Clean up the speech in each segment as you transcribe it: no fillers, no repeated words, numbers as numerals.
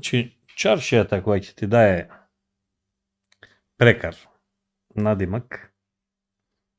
Значи, чаршијата која ќе ти дае прекар, надимак,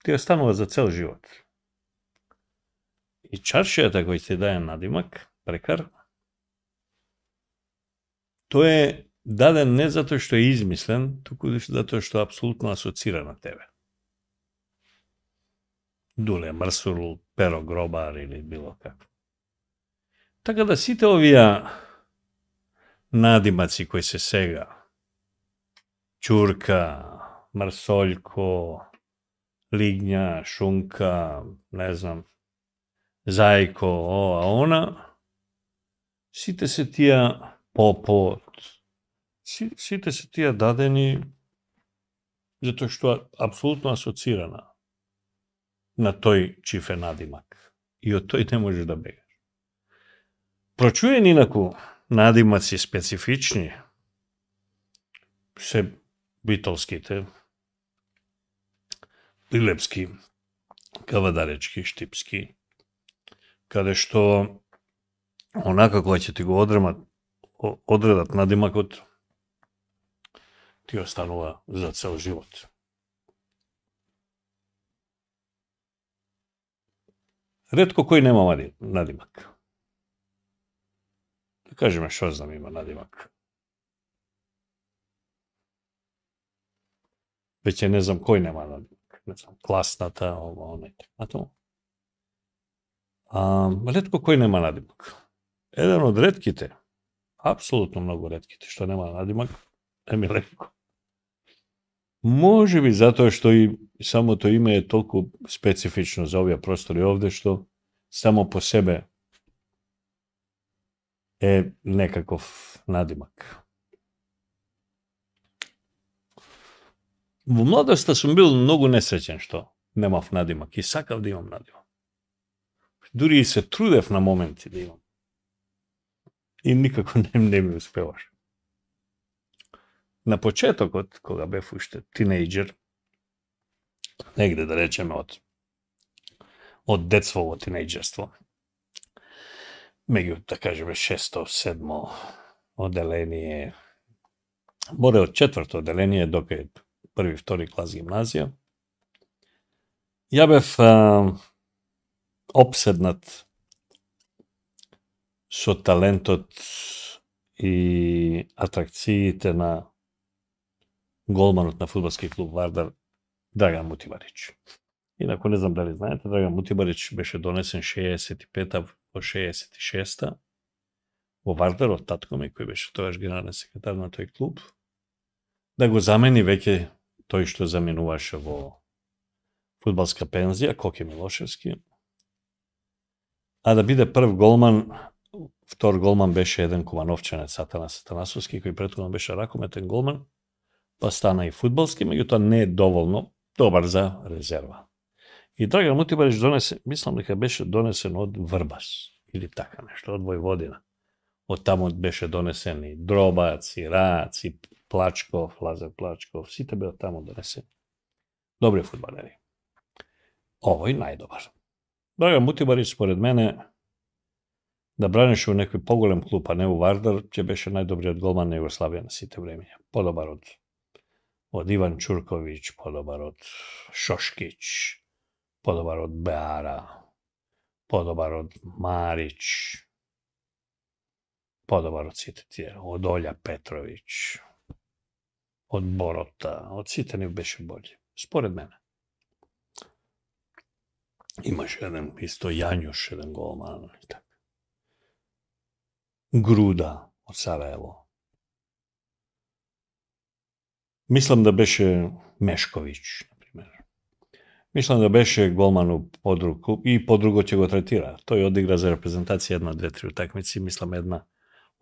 ти останува за цел живот. И чаршијата која ќе ти дае надимак, прекар, тој е даден не затоа што е измислен, туку затоа што е апсолутно асоцира на тебе. Дуле Мрсул, Перо Гробар или било како. Така да сите овие надимаци кои се сега, Чурка, Мрсољко, Лигња, Шунка, не знам, Зајко, ова, она, сите се тие Попот, сите се тие дадени затоа што апсолутно асоцирана на тој чиф е надимак. И од тој не можеш да бегаш. Прочуени инаку надимаци специфични се битолските, Пилепски, Кавадаречки, Штипски, каде што онака кога ќе ти го одредат надимакот, ти останува за цел живот. Ретко кој нема надимак. Да кажеме што знам има надимак. Веќе не знам кој нема надимак. Не знам, класната, ова, она и така. Ретко кој нема надимак. Еден од ретките, апсолутно многу ретките, што нема надимак, е Миленко. Може би затоа што и самото име е толку специфично за овие простори овде, што само по себе е некаков надимак. Во младоста сум бил многу несреќен што немав надимак и сакав да имам надимак. Дури и се трудев на моменти да имам. И никако не ми успеваш. На почетокот, кога бев уште тинејџер, негде да речеме од детство во тинејџерство, меѓу, да кажеме, 6-7 оделение, боре од 4-то оделение до кај 1-2 клас гимназија, ја бев опседнат со талентот и атракциите на голманот на фудбалски клуб Вардар Драган Мутибарич. Инаку не знам дали знаете, Драган Мутибарич беше донесен 65-та во 66-та во Вардар од татко ми, кој беше тогаш генерален секретар на тој клуб, да го замени веќе тој што заменуваше во фудбалска пензија, Коке Милошевски, а да биде прв голман. Втор голман беше еден кумановченец Атанас Атанасовски, кој претходно беше ракометен голман, па стана и фудбалски, меѓутоа не е доволно добар за резерва. И Драган Мутибарич донесе, мислам дека беше донесен од Врбас, или така нешто, од Војводина. Од таму беше донесен и Дробац, и Рац, и Плачков, Лазар Плачков, сите беа таму донесени. Добри фудбалери. Овој најдобар. Драган Мутибарич, според мене, да бранеше во некој поголем клуб, а не во Вардар, ќе беше најдобриот голман на Југославија на сите времења. Подобар од Иван Чурковиќ, подобар од Шошкиќ, подобар од Беара, подобар од Марич, подобар од сите тие, од Олја Петровиќ, од Борота, од сите не беше бољи, според мене. Имаше еден исто Јањуш, еден голман, така. Груда од Сараево. Мислам да беше Мешковиќ, например. Мислам да беше голман у подруг клуб и подруго ќе го третира. Тој одигра за репрезентација 1-2-3 утакмици, мислам една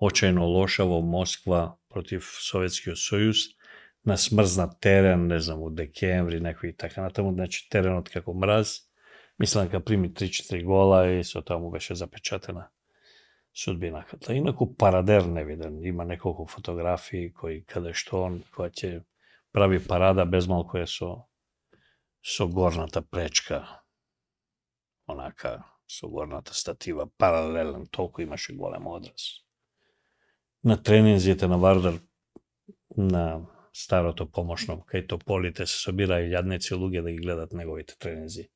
очајно лоша во Москва против Советскиот сојуз, на смрзнат терен, не знам, у декември, некои така натаму, значи теренот како мраз. Мислам дека прими 3-4 гола и со таму беше запечатена судбината. Инаку парадер невиден, има неколку фотографии кои каде што он која ќе прави парада безмалку е со горната пречка, онака со горната статива паралелен, толку имаше голем одраз. на тренинзите на Вардар, на старото помошно, кај тополите се собираја јадници луѓе да ги гледат неговите тренинзи,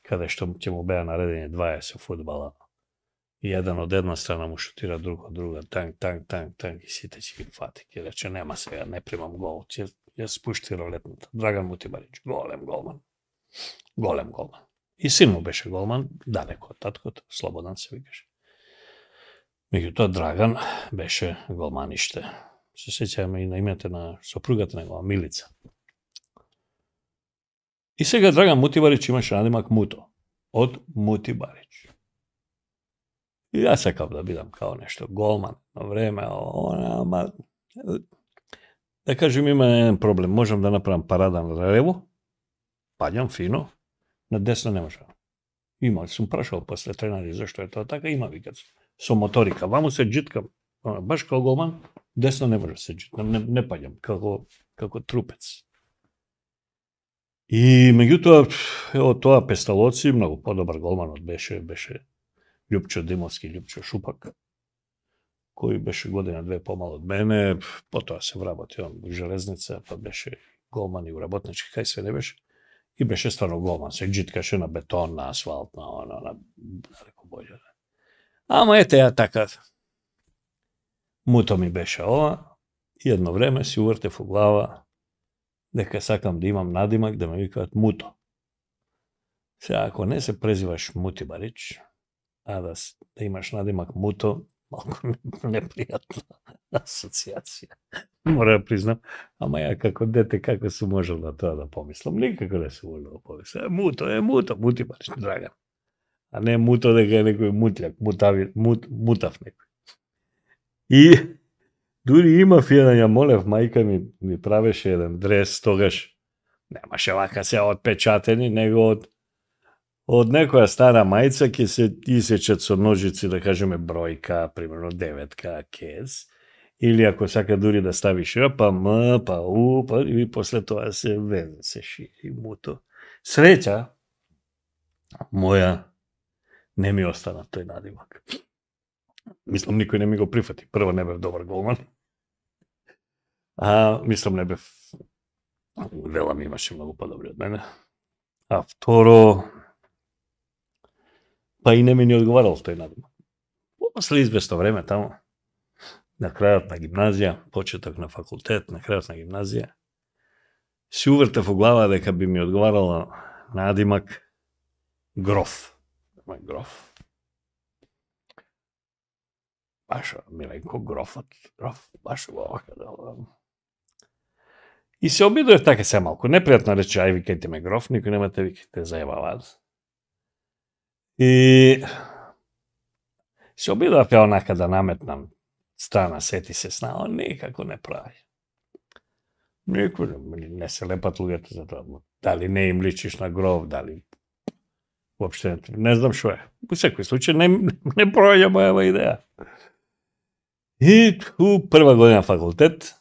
каде што ќе му беа наредени 20 фудбала. И еден од една страна му шутира, друг од друга, танк, и сите ќе ги фати. Ке рече, нема сега, не примам гол, ќе спушти ролетната. Драган Мутибарич, голем голман. И син му беше голман, далеко од таткото, Слободан се викаше. Меѓутоа, Драган беше голманиште. Се сеќаваме и на името на сопругата негова, Милица. И сега Драган Мутибарич имаше надимак Муто, од Мутибарич. И јас сакав да бидам као нешто голман на време, ама да кажем има еден проблем, можам да направам парада на лево, паѓам фино, на десно не можам. Има, сум прашал после тренари зашто е тоа така, има викат со моторика, ваму се джиткам, баш као голман, десно не може да се джиткам, не паѓам како трупец. И меѓутоа, ево тоа Песталоци, многу подобар голманот беше Љупчо Димовски, Љупчо Шупак, кој беше година-две помал од мене, потоа се вработи он во железница, па беше голман и у работнички, кај све не беше. И беше стварно голман, се джиткаше на бетон, на асфалт, на далеко боље. Ама ете ја така. Муто ми беше ова, и едно време си увртев у глава дека сакам да имам надимак да ме викаат Муто. Сега, ако не се презиваш Мутибарич, а да имаш надимак Муто, малку непријатна асоциација. Мора да признам, ама ја како дете како сум можел на тоа да помислам, никако не сум можел да помислам. Муто, Мутибарич, Драган. А не Муто дека е некој мутљак, мутав некој. И дури имав еден, ја молев, мајка ми правеше еден дрес, тогаш немаше вака се отпечатени, него од некоја стара мајца ќе се исечат со ножици, да кажеме бројка, примерно 9 кез, или ако сака дури да стави Ш, па М, па У, па и после тоа се везе, се шири Муто. Среќа моја не ми остана тој надимак. Мислам, никој не ми го прифати. Прво, не бев добар голман. Мислам, не бев... Вела ми имаше многу подобри од мене. А второ... Па и не ми одговарал тој надимак. После известно време тамо, на крајот на гимназија, почеток на факултет, на крајот на гимназија, си увртев во глава дека би ми одговарала надимак Гроф. Гроф. Баш Миленко Грофот. Гроф, баш овака да... И се обидував така се малку. Непријатно рече, ај викајте ме Гроф, никој нема те викајте, зајбаваат. И се обидував ја онака да наметнам страна, сети се сна, никако не прави. Никој не се лепат луѓето за тоа. Дали не им личиш на Гроф, дали... Воопште не знам шо е. Во секој случај не проаѓа мојава идеја. И у прва година факултет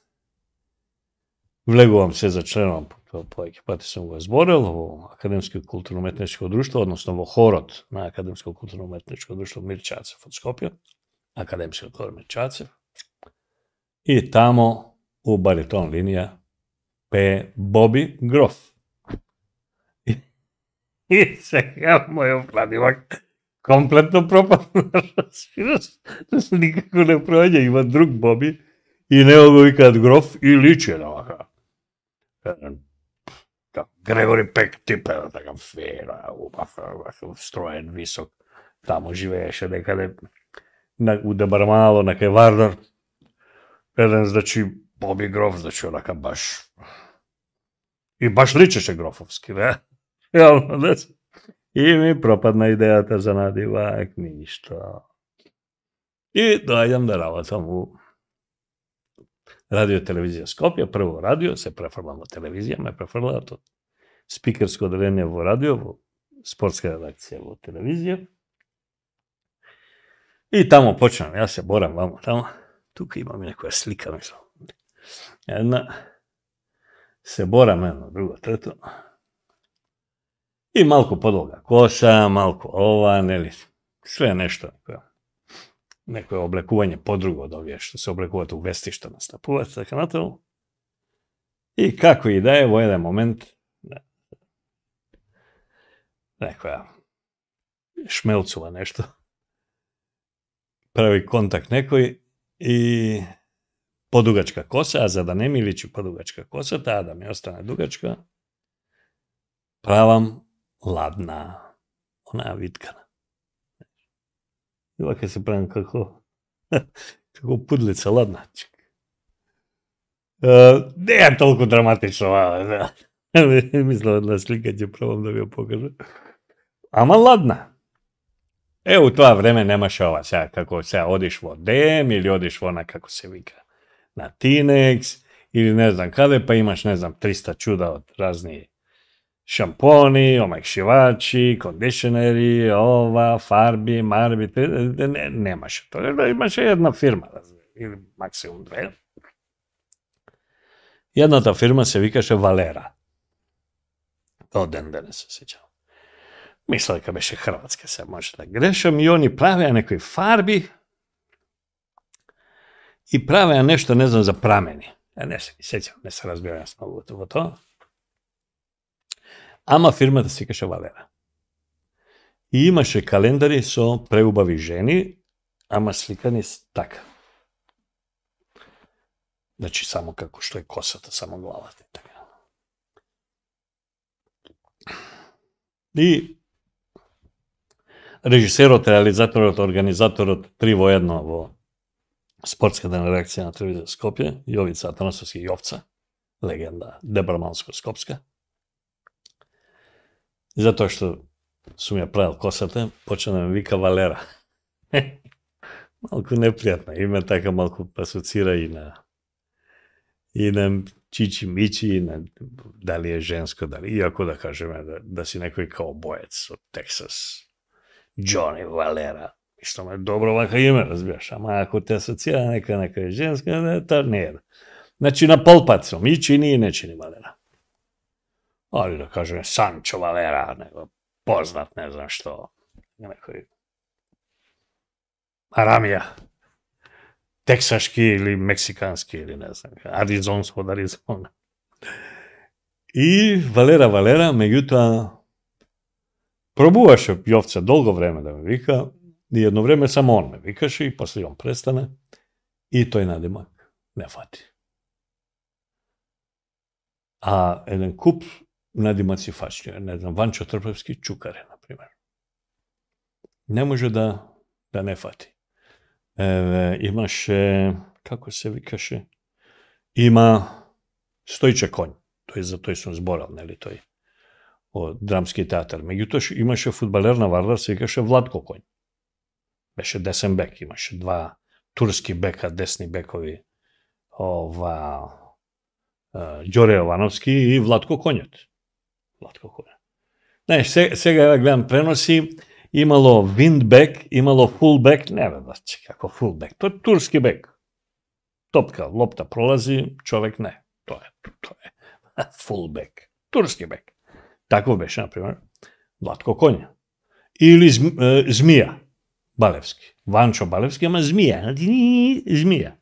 влегувам се за членом, повеќе пати сум го зборел, во Академско културно-уметничко друштво, односно во хорот на Академско културно-уметничко друштво Мирчацев од Скопје, Академски хор Мирчацев. И тамо у баритон линија пее Боби Гроф. И сега мојот надимак комплетно пропадна, разбираш, никако не проаѓа, има друг Боби и него го викаат Гроф и личи на вака. Грегори Пек типе, така фера, строен, висок, тамо живееше некаде у Дебармало, на кај Вардар. Еден, значи, Боби Гроф, значи, онака баш... И баш личеше Грофовски, не? И ми пропадна идејата за надимак, ништо. И доаѓам да работам у радио телевизија Скопје, прво радио, се префрлам во телевизија, ме префрлаат од спикерско одделение во радио, во спортска редакција во телевизија. И тамо почнам, јас се борам вамо тамо, тука имам некоја слика, мислам. Една, се борам едно, друго, трето. И малку подолга коса, малку ова, нели, све нешто. некое облекување подруго од овие што се облекуваат у вестишта, настапуваат, така натаму. И како и да е, во еден момент, некоја шмелцува нешто, прави контакт некој и подугачка коса, а за да не ми личи подугачка коса, таа да ми остане дугачка, правам ладна, онаа виткана. И вака се правам како пудлица ладна. Не е толку драматично, мислам на слика ќе пробам да ви ја покажа. Ама ладна. У тоа време немаше ова, сега како сега одиш во ДМ или одиш во она како се вика на Тинекс или не знам каде, па имаш не знам 300 чуда од разни шампони, омекшивачи, кондишенери, ова, фарби, марби, немаше тоа. Имаше една фирма, или максимум две. Едната фирма се викаше Валера. Тоа ден денес се сеќавам. Мисля дека беше хрватска, се може да грешам, и они правеа некои фарби и правеа нешто, не знам, за прамени. Не се сеќавам, не се разбирам многу во тоа. Ама фирмата се викаше Валера. И имаше календари со преубави жени, ама сликани така. Значи, само како што е косата, само главата и така. И режисерот, реализаторот, организаторот, 3 во 1 во спортската реакција на телевизија Скопје, Јовица Атанасовски Јовца, легенда Дебраманско-Скопска. Затоа што сум ја правил косата, почна да ме вика Валера. Малку непријатно име, така малку асоцира и на Чичи Мичи, и на дали е женско, дали, иако да кажеме да си некој каубоец од Тексас. Джони Валера. Што ме добро вака име, разбираш, ама ако те асоцира нека е женска, тоа не е. Значи на полпат сум, и чини и не чини Валера. Али да кажеме Санчо Валера, него познат, не знам што, некој Арамија, тексашки или мексикански, или не знам, аризонско од Аризона. И Валера, меѓутоа, пробуваше Јовца долго време да ме вика, и едно време само он ме викаше, и после он престане, и тој надимак не фати. А еден куп надимаци фачни, не знам, Ванчо Трпевски Чукаре, например. Не може да не фати. Имаше, како се викаше, има Стојче Конј, за тој сум зборал, нели тој, од драмски театар. Меѓутоа имаше фудбалер на Вардар, се викаше Владко Конј. Беше десен бек, имаше 2 турски бека, десни бекови, Ѓоре Јовановски и Владко Конјот. Знаеш, сега гледам преноси, имало виндбек, имало фулбек, не ведачи како фулбек, тоа е турски бек. Топка, лопта пролази, човек не. Тоа е фулбек, турски бек. Тако беше, например, Владко Конј. Или Змија Балевски. Ванчо Балевски, ама Змија.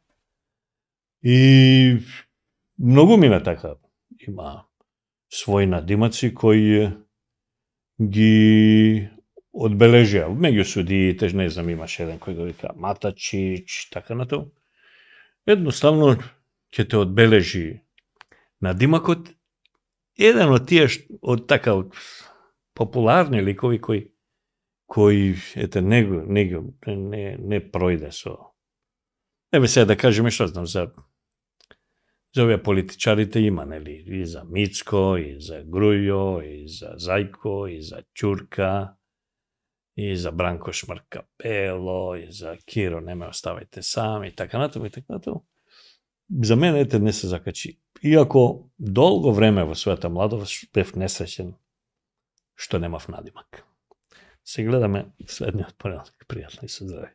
И многу мина така. Има своји надимаци кои ги одбележија. Меѓу судиите, не знам, имаше еден кој го вика Матачич, така натаму. Едноставно ќе те одбележи надимакот. Еден од тие од популарни ликови кои ете не пројде со. Еве сега да кажеме што знам за овие политичарите има, нели, и за Мицко, и за Грујо, и за Зајко, и за Ќурка, и за Бранко Шмркапело, и за Киро, не ме оставајте сам, и така натаму, и така натаму. За мене ете не се закачи. Иако долго време во својата младост бев несреќен што немав надимак. Се гледаме следниот понеделник. Пријатно и се здрави.